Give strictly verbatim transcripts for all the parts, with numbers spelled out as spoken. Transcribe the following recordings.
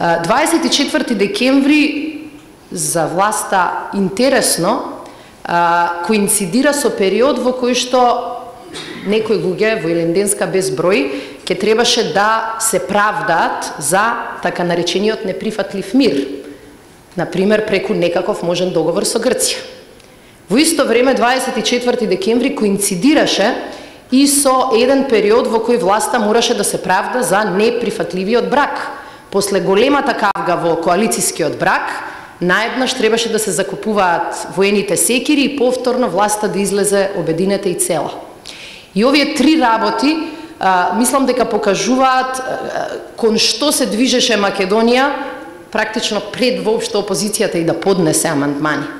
дваесет и четврти декември за власта интересно коинцидира со период во кој што некои луѓе во Илинденска безброј ќе требаше да се правдаат за така наречениот неприфатлив мир, например преку некаков можен договор со Грција. Во исто време дваесет и четврти декември коинцидираше и со еден период во кој власта мораше да се правда за неприфатливиот брак. После големата кавга во коалицијскиот брак, наеднаш требаше да се закупуваат воените секири и повторно власта да излезе обединета и цела. И овие три работи, а, мислам дека покажуваат а, кон што се движеше Македонија практично пред воопшто опозицијата и да поднесе амандмани.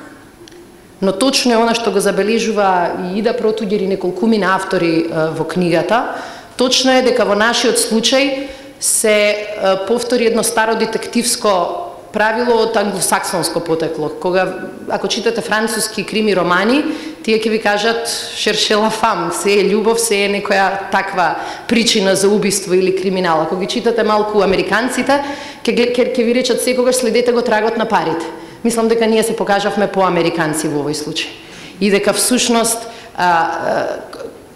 Но точно е она што го забележува и Ида Протуѓер и неколкумина автори а, во книгата, точно е дека во нашиот случај се а, повтори едно старо детективско правило од англосаксонско потекло. Кога, ако читате француски крими романи, тие ќе ви кажат «Шерше ла фам», се е љубов, се е некоја таква причина за убиство или криминал. Ако ги читате малку американците, ќе, ќе, ќе ви речат секогаш следете го трагот на парите. Мислам дека ние се покажавме по-американци во овој случај. И дека всушност, а, а,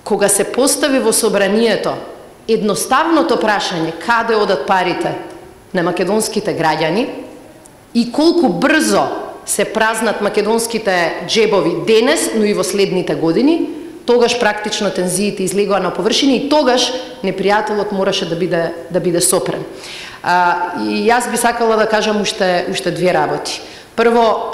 кога се постави во собранието едноставното прашање каде одат парите на македонските граѓани, и колку брзо се празнат македонските джебови денес, но и во следните години, тогаш практично тензиите излегоа на површина и тогаш непријателот мораше да биде да биде сопрен. А, и јас би сакала да кажам уште уште две работи. Прво,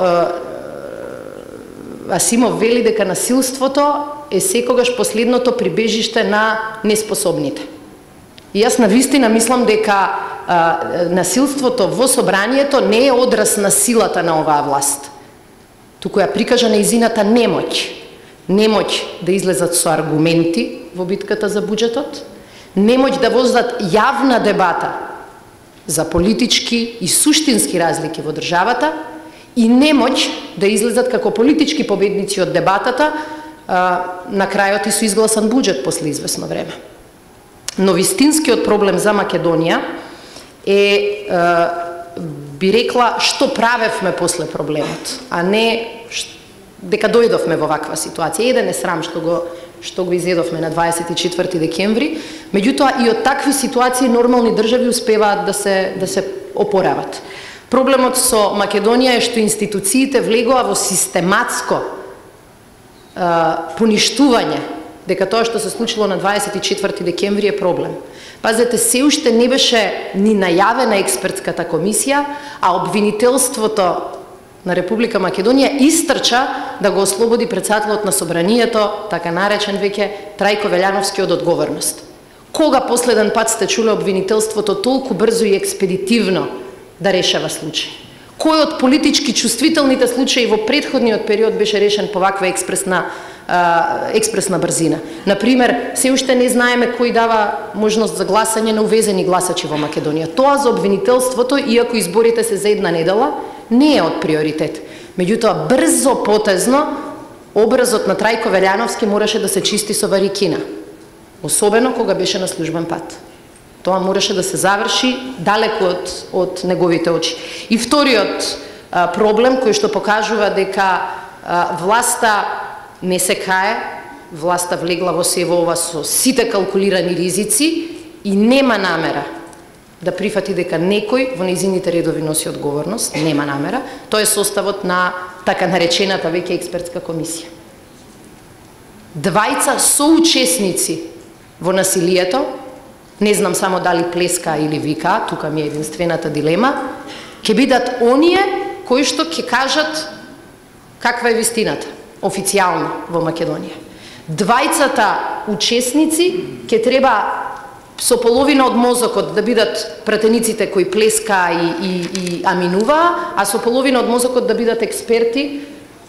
Асимов вели дека насилството е секогаш последното прибежиште на неспособните. И јас навистина мислам дека а, насилството во собранието не е одраз на силата на оваа власт, туку ја прикажа нејзината немоќ. Немоќ да излезат со аргументи во битката за буџетот, немоќ да возат јавна дебата за политички и суштински разлики во државата и немоќ да излезат како политички победници од дебатата а, на крајот и со изгласан буџет после извесно време. Но вистинскиот проблем за Македонија е, е би рекла, што правевме после проблемот, а не дека дојдовме во ваква ситуација. Еден е срам што го што го изедовме на дваесет и четврти декември, меѓутоа и од такви ситуации нормални држави успеваат да се да се опорават. Проблемот со Македонија е што институциите влегоа во систематско е, поништување, дека тоа што се случило на дваесет и четврти декември е проблем. Пазете, се уште не беше ни најавена експертската комисија, а обвинителството на Република Македонија истрча да го ослободи председателот на собранието, така наречен веќе Трајко Велјановски од одговорност. Кога последен пат сте чуле обвинителството толку брзо и експедитивно да решава случај? Кој од политички чувствителните случаи во претходниот период беше решен по ваква експресна експресна брзина? Например, се уште не знаеме кој дава можност за гласање на увезени гласачи во Македонија. Тоа за обвинителството, иако изборите се за една недела, не е од приоритет. Меѓутоа, брзо потезно, образот на Трајко Велјановски мораше да се чисти со варикина. Особено кога беше на службен пат. Тоа мораше да се заврши далеку од, од неговите очи. И вториот а, проблем, кој што покажува дека а, власта не се кае, власта влегла во се во ова со сите калкулирани ризици и нема намера да прифати дека некој во нејзините редови носи одговорност, нема намера. Тоа е составот на така наречената веќе експертска комисија. Двајца соучесници во насилието, не знам само дали плеска или вика, тука ми е единствената дилема, ќе бидат оние кои што ќе кажат каква е вистината официјално во Македонија. Двајцата учесници ќе треба со половина од мозокот да бидат пратениците кои плеска и, и, и аминуваа, а со половина од мозокот да бидат експерти,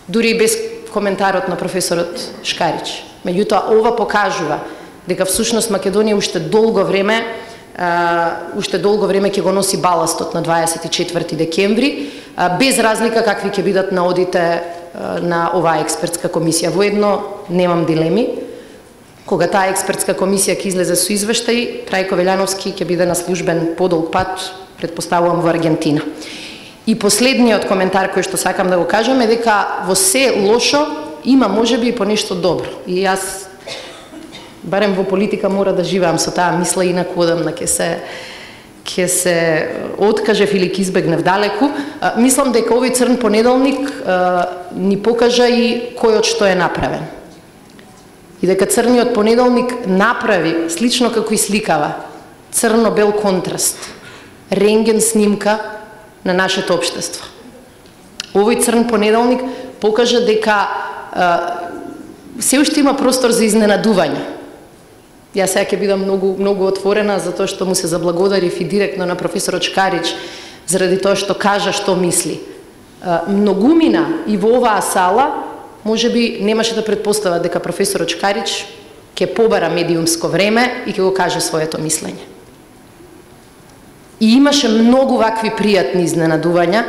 дури без коментарот на професорот Шкарич. Меѓутоа, ова покажува дека всушност Македонија уште долго време Uh, уште долго време ќе го носи баластот на дваесет и четврти декември, uh, без разлика какви ќе бидат наодите uh, на оваа експертска комисија. Воедно немам дилеми. Кога таа експертска комисија ќе излезе со извештај, Трајко Велјановски ќе биде на службен подолг пат предпоставувам во Аргентина. И последниот коментар кој што сакам да го кажам е дека во се лошо има можеби и по нешто добро. И јас барем во политика мора да живеам со таа мисла, инаку одам на ќе се ќе се откажев или ќе избегнев далеку. А, мислам дека овој црн понеделник а, ни покажа и кој од што е направен. И дека црниот понеделник направи, слично како и сликава, црно-бел контраст, рентген снимка на нашето општество. Овој црн понеделник покажа дека а, се уште има простор за изненадување. Јас сега ќе бидам многу, многу отворена, затоа што му се заблагодарив и директно на професорот Шкарич, заради тоа што кажа што мисли. А, многумина и во оваа сала, може би немаше да предпостава дека професорот Шкарич ќе побара медиумско време и ќе го каже своето мислење. И имаше многу вакви пријатни изненадувања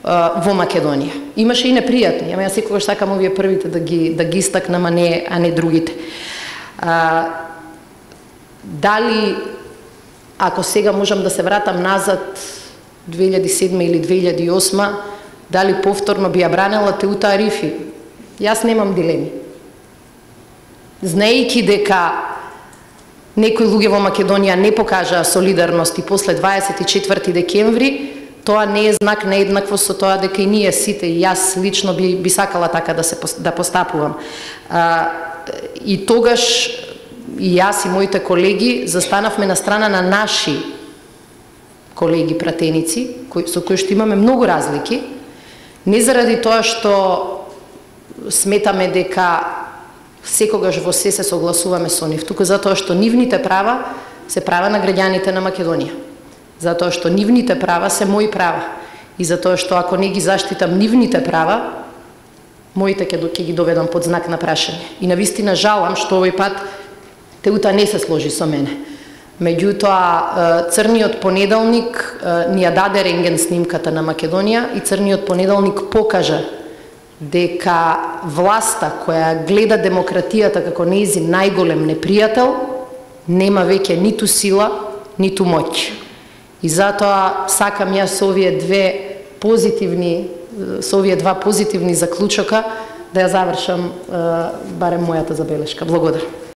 а, во Македонија. Имаше и непријатни, ама јас секогаш сакам овие првите да ги, да ги истакнам, а не, а не другите. А, дали, ако сега можам да се вратам назад, две илјади и седма или две илјади и осма, дали повторно би ја бранела Теута Арифи? Јас немам дилеми. Знаејќи дека некои луѓе во Македонија не покажаа солидарност и после дваесет и четврти декември, тоа не е знак на еднаквост со тоа дека и ние сите, и јас лично би, би сакала така да се да постапувам. А, и тогаш и јас и моите колеги застанавме на страна на наши колеги пратеници, кои, со кои што имаме многу разлики, не заради тоа што сметаме дека секогаш во се се согласуваме со нив, туку затоа што нивните права се права на граѓаните на Македонија. Затоа што нивните права се мои права. И затоа што ако не ги заштитам нивните права, моите ќе ги доведам под знак на прашање. И навистина жалам што овој пат Теута не се сложи со мене. Меѓутоа, црниот понеделник ни ја даде рентген снимката на Македонија и црниот понеделник покажа дека власта која гледа демократијата како нејзин најголем непријател нема веќе ниту сила, ниту моќ. И затоа сакам јас со овие две позитивни, со овие два позитивни заклучока да ја завршам барем мојата забелешка. Благодарам.